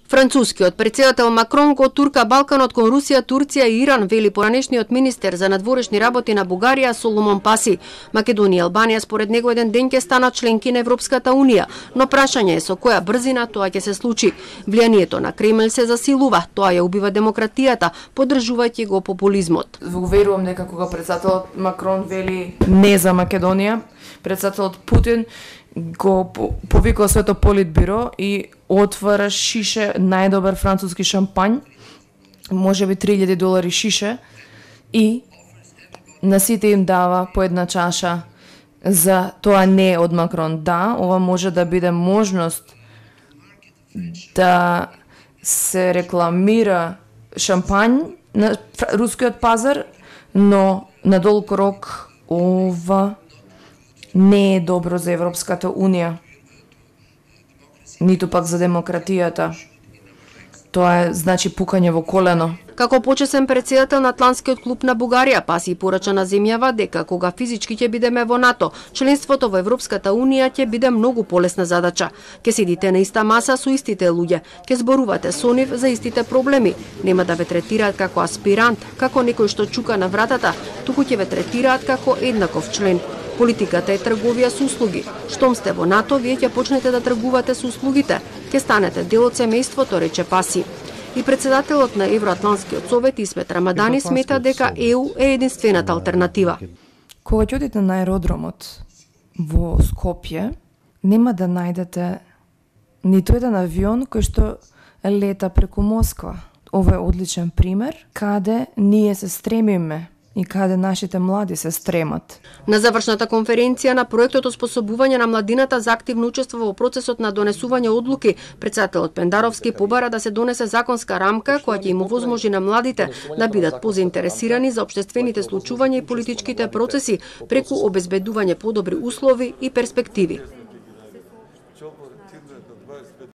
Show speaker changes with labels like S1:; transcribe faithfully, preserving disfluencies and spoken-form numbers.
S1: Францускиот председател Макрон го турка Балканот кон Русија, Турција и Иран, вели поранешниот министер за надворешни работи на Бугарија Соломон Паси. Македонија и Албанија според него еден ден ќе станат членки на Европската унија, но прашање е со која брзина тоа ќе се случи. Влијанието на Кремљ се засилува, тоа ја убива демократијата, поддржувајќи го популизмот.
S2: Уверувам дека кога председателот Макрон вели не за Македонија, председателот Путин го повикува своето политбиро и отвара шише најдобар француски шампањ, можеби три илјади долари шише, и на сите им дава по една чаша. За тоа не е од Макрон. Да, ова може да биде можност да се рекламира шампањ на рускиот пазар, но на долг рок ова не е добро за Европската унија, ниту пак за демократијата. Тоа е, значи, пукање во колено.
S1: Како почесен председател на Атлантскиот клуб на Бугарија, Паси порача на земјава дека кога физички ќе бидеме во НАТО, членството во Европската унија ќе биде многу полесна задача. Ќе седите на иста маса со истите луѓе, ќе зборувате со нив за истите проблеми. Нема да ве третираат како аспирант, како некој што чука на вратата, туку ќе ве третираат како еднаков член. Политиката е трговија со услуги. Штом сте во НАТО, вие ќе почнете да тргувате со услугите. Ќе станете дел од семејството, рече Паси. И председателот на Евроатлантскиот совет Исмет Рамадани смета дека Е У е единствената алтернатива.
S2: Кога ќе одите на аеродромот во Скопје, нема да најдете ниту еден авион кој што лета преку Москва. Ова е одличен пример каде ние се стремиме и каде нашите млади се стремат.
S1: На завршната конференција на проектот Оспособување на младината за активно учество во процесот на донесување одлуки, председателот Пендаровски побара да се донесе законска рамка која ќе им овозможи на младите да бидат позаинтересирани за општествените случувања и политичките процеси преку обезбедување подобри услови и перспективи.